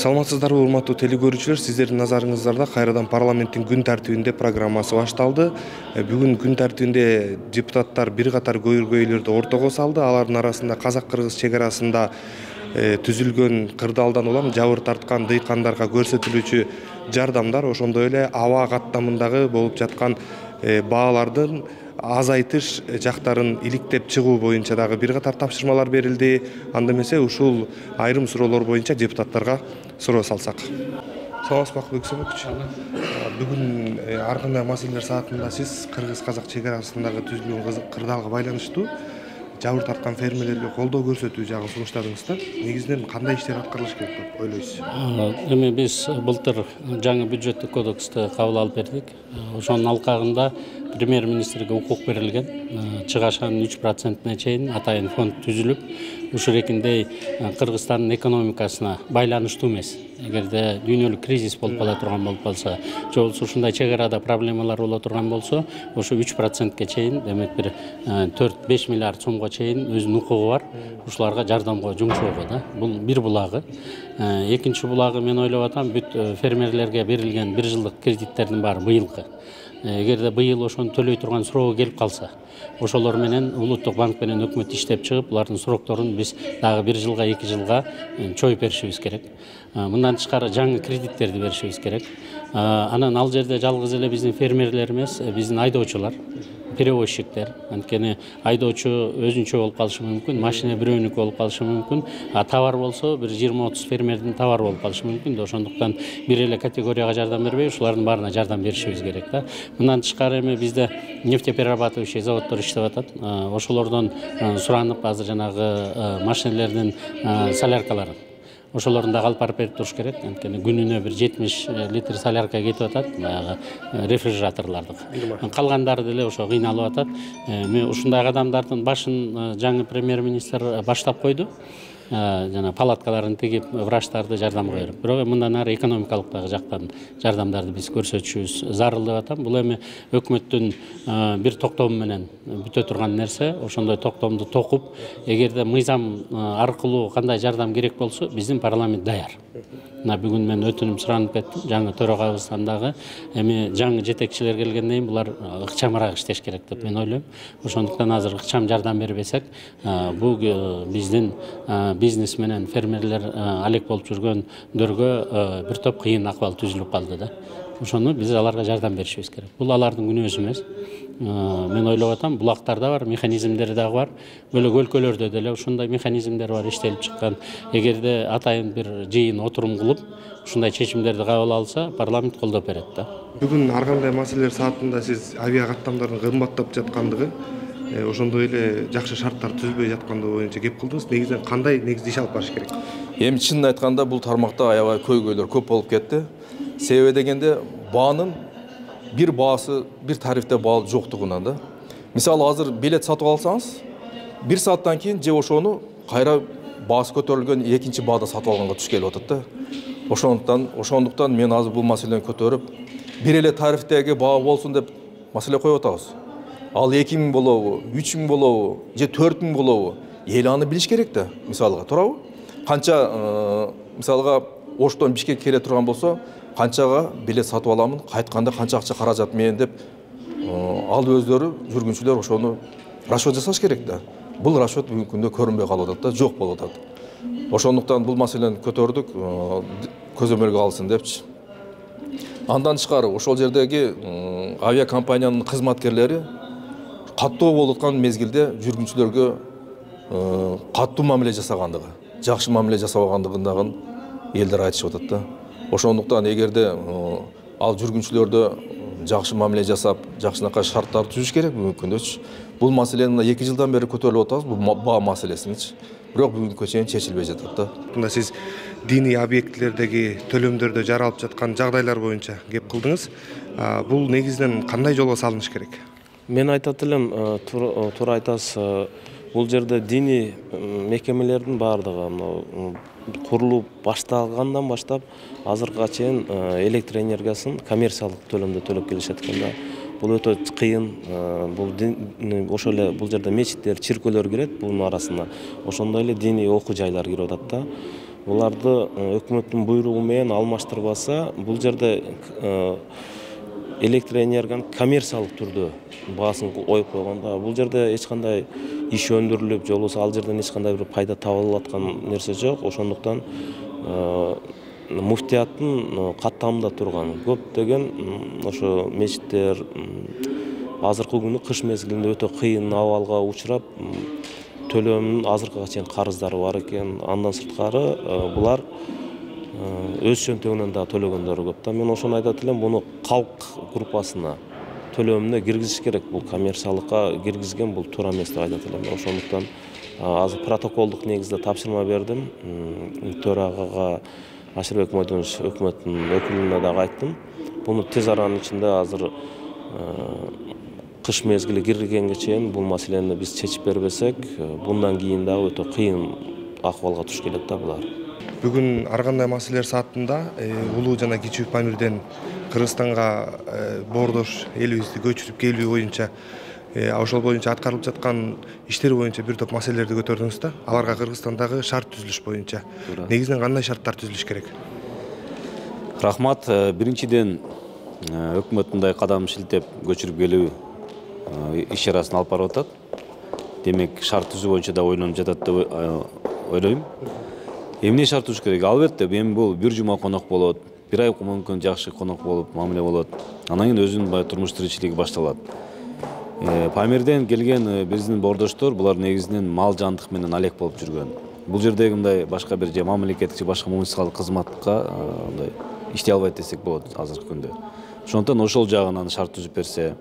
Саламатсыздарбы, урматтуу телекөрүүчүлөр, сиздердин назарыңыздарда кайрадан парламенттин күн тартибинде программасы башталды. Бүгүн күн тартибинде депутаттар бир катар көйгөйлөрдү ортого салды. Алардын арасында казак-кыргыз чек арасында түзүлгөн кырдаалдан улам жабыр тарткан дыйкандарга көрсөтүлүүчү жардамдар, ошондой эле аба каттамындагы болуп жаткан баалардын азайтыш жактарын иликтеп чыгуу боюнча дагы бир катар тапшырмалар берилди. Анда эмесе ушул айрым суроолор боюнча депутаттарга суроо салсак. Саламатсызбы Бексемович? Бүгүн ар кандай маселелер саатында сиз кыргыз-казак чек арасындагы түзүлгөн кырдаалга байланыштуу жабыр тарткан фермерлерге колдоо көрсөтүү жагын сунуштадыңыз да. Негизинен кандай иштер аткарылыш керек деп ойлойсуз? Эми биз былтыр жаңы бюджеттик кодексти кабыл алып бердик. Ошонун алкагында премьер-министрге укук берилген. Чыгашанын 3%-на чейин атайын фонд түзүлүп, ушурекиндей Кыргызстандын экономикасына байланыштуу эмес. Эгерде дүйнөлүк кризис болуп кала турган болуп калса, же болбосо ушундай чек арада проблемалар боло турган болсо, ошо 3%-ке чейин, демек бир 4-5 миллиард сомго чейин өзүнүн укугу бар. Ушуларга жардамга жумшоого да. Бул бир булагы. Экинчи булагы мен ойлоп атам, бүт фермерлерге берилген бир жылдык кредиттердин баары быйылкы. Эгерде быйыл ошону төлөй турган суроо келип калса, ошолор менен улуттук банк менен өкмөт иштеп чыгып, булардын срокторун биз дагы 1 жылга 2 жылга чоюп беришибиз керек. Мындан тышкары жаңы кредиттерди беришибиз керек. Анан ал жерде жалгыз эле биздин фермерлер эмес, биздин айдоочулар, перевозчиктер, анткени айдоочу өзүнчө болуп калышы мүмкүн, машина бирөөнүкү болуп калышы мүмкүн, тавар болсо бир 20-30 фермердин тавары болуп калышы мүмкүн. Ошондуктан бир эле категорияга жардам бербей, ушулардын баарына жардам беришибиз керек да. Мындан тышкары эми бизде нефтеперерабатывающий заводдор иштеп атат. Ошолордон суранып азыр жанагы машинелердин соляркаларын ошолорун дагы алып барып берип туруш керек. Анткени күнүнө бир 70 литр солярка кетип атат, баягы рефрижераторлордук. Калгандары деле ошо кыйналып атат. Мен ушундай кадамдардын башын жаңы премьер-министр баштап койду. Жана палаткаларын тигип, врачтарды жардамга берип. Бирок мындан ары экономикалык дагы жактан жардамдарды биз көрсөтүшүбүз зарыл деп атам. Бул эми өкмөттүн бир токтому менен бүтө турган нерсе. Ошондой токтомду токуп, эгерде мыйзам аркылуу кандай жардам керек болсо, биздин парламент даяр. Бүгүн мен өтүнүм суранып кеттим, жаңы төрагабыздан дагы. Эми жаңы жетекчилер келгенден кийин булар ыкчамыраак иштеш керек деп мен ойлойм. Ошондуктан азыр ыкчам жардам бербесек, бул биздин бизнес менен фермерлер алек болуп жүргөндөргө бир топ кыйын акыбал түзүлүп калды да. Ошону биз аларга жардам беришибиз керек. Бул алардын күнөөсү эмес. Мен ойлоп атам, булактарда бар, механизмдери дагы бар. Бөлөк өлкөлөрдө деле ушундай механизмдер бар, иштелип чыккан. Эгерде атайын бир жыйын отурум кылып, ушундай чечимдерди кабыл алса, парламент колдоп берет да. Бүгүн ар кандай маселелер саатында сиз авиа каттамдардын кымбаттап жаткандыгы, ошондой эле жакшы шарттар түзүлбөй жаткандыгы боюнча кеп кылдыңыз. Негизинен кандай негизде иш алып барыш керек? Эми чынын айтканда бул тармакта аябай көйгөйлөр көп болуп кетти. Себеби дегенде баанын бир баасы, бир тарифте баа жоктугунан да. Мисалы азыр билет сатып алсаңыз, 1 сааттан кийин же ошону кайра баасы көтөрүлгөн экинчи баада сатып алганга туш келип атат да. Ошондуктан мен азыр бул маселени көтөрүп, бир эле тарифтеги баа болсун деп маселе коюп атабыз. Ал 2000 болобу, 3000 болобу, же 4000 болобу? Эл аны билиш керек да, мисалга, туурабы? Канча мисалга Оштон Бишкекке келе турган болсо, канчага билет сатып аламын, кайтканда канча акча каражат менен деп ал өздөрү жүргүнчүлөр ошону расчет жасаш керек да. Бул расчет бүгүнкү күндө көрүнбөй калып атат да, жок болуп атат. Ошондуктан бул маселени көтөрдүк, көзөмөлгө алсын депчи. Андан тышкары ошол жердеги авиакомпаниянын кызматкерлери каттуу болуп аткан мезгилде жүргүнчүлөргө каттуу мамиле жасагандыгы, жакшы мамиле жасабагандыгын дагы элдер айтышып атат да. Ошондуктан эгерде ал жүргүнчүлөрдө жакшы мамиле жасап, жакшынакай шарттар түзүш керек бүгүнкү күндөчү. Бул маселени 2 жылдан бери көтөрүлүп атабыз, бул баа маселесиничи. Бирок бүгүнкү чейин чечилбей жатат да. Мында сиз диний объектилердеги төлөмдөрдө жаралып жаткан жагдайлар боюнча кеп кылдыңыз. Бул негизинен кандай жолго салыныш керек? Мен айтат элем, туура айтасыз. Бул жерде диний мекемелердин баардыгы курулуп башталгандан баштап азыркыга чейин электр энергиясын коммерциялык төлөмдө төлөп келишет экен да. Бул өтө кыйын. Ошол эле бул жерде мечиттер, чиркөөлөр кирет бунун арасына. Ошондой эле диний окуу жайлар кирип атат да. буларды өкмөттүн буйругу менен алмаштырбаса, бул жерде электр энергиянын коммерциялык түрдө баасын коюп койгондо, бул жерде эч кандай иш өндүрүлүп, же болбосо ал жерден эч кандай бир пайда табылып аткан нерсе жок. Ошондуктан муфтияттын каттамында турган көптөгөн ошо мечиттер азыркы күнү кыш мезгилинде өтө кыйын абалга учурап, төлөмүнүн азыркыга чейин карыздары бар экен. Андан сырткары булар өз чөнтөгүнөн да төлөгөндөрү көп да. Мен ошону айтат элем, буну калк группасына төлөмүнө киргизиш керек. Бул коммерциялыкка киргизген бул туура эмес деп айтат элем. Ошондуктан азыр протоколдук негизде тапшырма бердим. Төрагага Ашырбек Мойдонович өкмөттүн өкүлүнө дагы айттым. Буну тез аранын ичинде азыр кыш мезгили киргенге чейин бул маселени биз чечип бербесек, bundan кийин дагы өтө кыйын акыбалга туш келет да булар. Бүгүн ар кандай маселелер саатында улуу жана кичүү Памирден Кыргызстанга боордош элибизди көчүрүп келүү боюнча ошол боюнча аткарылып жаткан иштер боюнча бир топ маселелерди көтөрдүңүз да. Аларга Кыргызстандагы шарт түзүлүш боюнча негизинен кандай шарттар түзүлүш керек? Рахмат. Биринчиден өкмөт мындай кадам шилтеп көчүрүп келүү иш чарасын алып барып атат. Демек, шарт түзүү боюнча да ойлонуп жатат деп ойлойм. Эмне шарт түзүш керек? Албетте, эми бул бир жума конок болот, бир ай мүмкүн жакшы конок болуп мамиле болот. Анан кийин өзүнүн турмуш тиричилиги башталат. Памирден келген биздин боордоштор булар негизинен мал жандык менен алек болуп жүргөн. Бул жердеги мындай башка бир же мамлекеттик же башка муниципалдык кызматка мындай иштей албайт десек болот азыркы күндө. Ошондуктан ошол жагынан шарт түзүп берсе,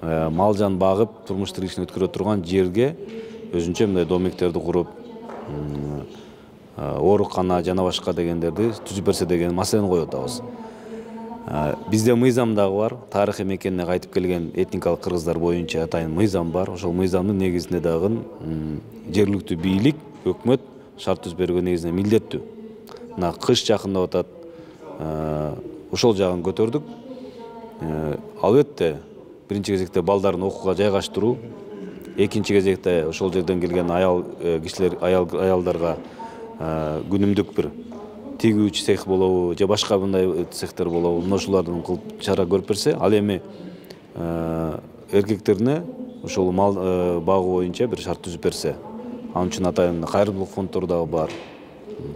мал жан багып, турмуш тиричилигин өткөрө турган жерге өзүнчө мындай домектерди куруп, оорукана жана башка дегендерди түзүп берсе деген маселени коюп атабыз. Бизде мыйзам дагы бар. Тарыхый мекенине кайтып келген этникалык кыргыздар боюнча атайын мыйзам бар. Ошол мыйзамдын негизинде дагы жергиликтүү бийлик, өкмөт шарт түзүп берүүгө негизинен милдеттүү. Мына кыш жакындап атат. Ошол жагын көтөрдүк. Албетте, биринчи кезекте балдарын окууга жайгаштыруу, экинчи кезекте ошол жерден келген аял кишилер, аялдарга күнүмдүк бир тигүүчү цех болобу же башка мындай цехтер болобу, ошолордун кылып чара көрүп берсе, ал эми эркектерине ошол мал багуу боюнча бир шарт түзүп берсе, ал үчүн атайын кайрымдуулук фонддору дагы бар,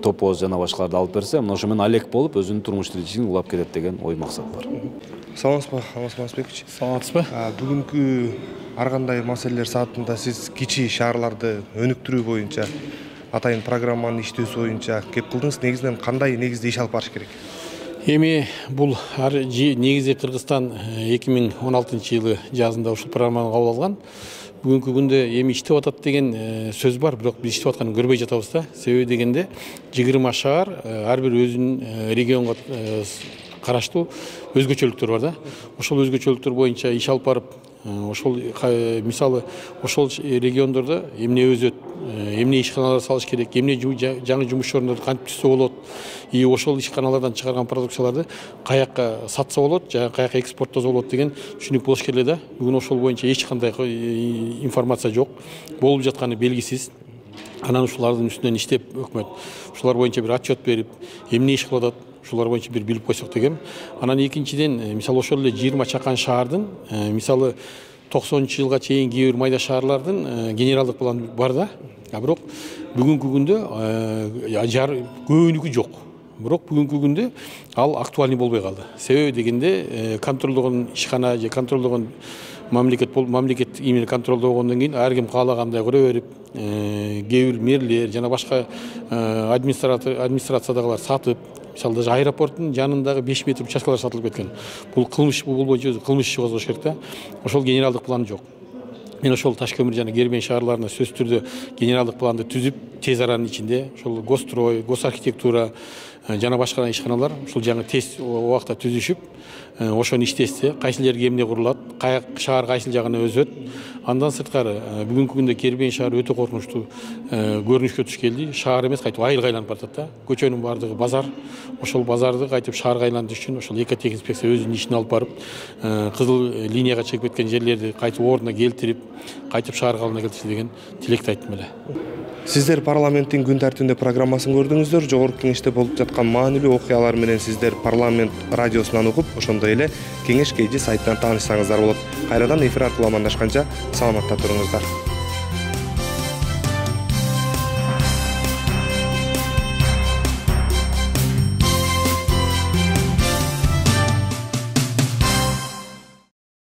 топоз жана башкаларды алып берсе, мына ошо менен алек болуп өзүнүн турмуш тиричилигин улап кетет деген ой максат бар. Саламатсызбы, Алмазбекович? Саламатсызбы? Бүгүнкү ар кандай маселелер саатында сиз кичи шаарларды өнүктүрүү боюнча атайын программанын иштөөсү боюнча кеп кылдыңыз. Негизинен кандай негизде иш алып барыш керек? Эми бул негизи Кыргызстан 2016-жылы жазында ушул программаны кабыл алган. Бүгүнкү күндө эми иштеп атат деген сөз бар, бирок биз иштеп атканын көрбөй жатабыз да. Себеби дегенде 20 шаар ар бир өзүнүн регионго караштуу өзгөчөлүктөр бар да. Ошол өзгөчөлүктөр боюнча иш алып барып, ошол мисалы ошол региондордо эмне өзөт, эмне ишканалар салыш керек, эмне жаңы жумуш ордорду кантип түзсө болот, и ошол ишканалардан чыгарган продукцияларды каякка сатса болот, жана каякка экспорттосо болот деген түшүнүк болуш керек да. Бүгүн ошол боюнча эч кандай информация жок, болуп жатканы белгисиз. Анан ушулардын үстүнөн иштеп өкмөт ушулар боюнча бир отчет берип, эмне иш кылып атат, ушулар боюнча бир билип койсок деген. Анан экинчиден, мисалы ошол эле 20 чакан шаардын, мисалы 90-жылга чейин кээ бир майда шаарлардын генералдык планы бар да. Бирок бүгүнкү күндө көбүнүкү жок. Бирок бүгүнкү күндө ал актуальный болбой калды. Себеби дегенде контролдогон ишкана же контролдогон мамлекет имени контролдогондон кийин ар ким каалагандай көрө берип, кээ бир мэрлер жана башка администрациядагылар сатып, мисалы даже аэропорттун жанындагы 5 метр участкалар сатылып кеткен. Бул кылмыш, бул боюнча кылмыш иши козгош керек да. Ошол генералдык план жок. Мен ошол Ташкөмүр жана Кербен шаарларына сөзсүз түрдө генералдык планды түзүп, тез аранын ичинде ошол госстрой, госархитектура, жана башка ишканалар ушул жаңы тест убакта түзүшүп, ошону иштесе, кайсыл жерге эмне курулат, шаар кайсыл жагына өсөт. Андан сырткары бүгүнкү күндө Кербен шаары өтө коркунучтуу көрүнүшкө туш келди. Шаар эмес, кайтып айылга айланып баратат да. Көчөнүн баардыгы базар. Ошол базарды кайтып шаарга айлантыш үчүн ошол экотех инспекция өзүнүн ишин алып барып, кызыл линияга чыгып кеткен жерлерди кайтып ордуна келтирип, кайтып шаар калыбына келтирсе деген тилекти айттым эле. Сиздер парламенттин күн тартибинде программасын көрдүңүздөр. Жогорку кеңеште болуп жаткан маанилүү окуялар менен сиздер парламент радиосунан угуп, ошондой эле кеңеш KG сайтынан таанышсаңыздар болот. Кайрадан эфир аркылуу амандашканча саламатта туруңуздар.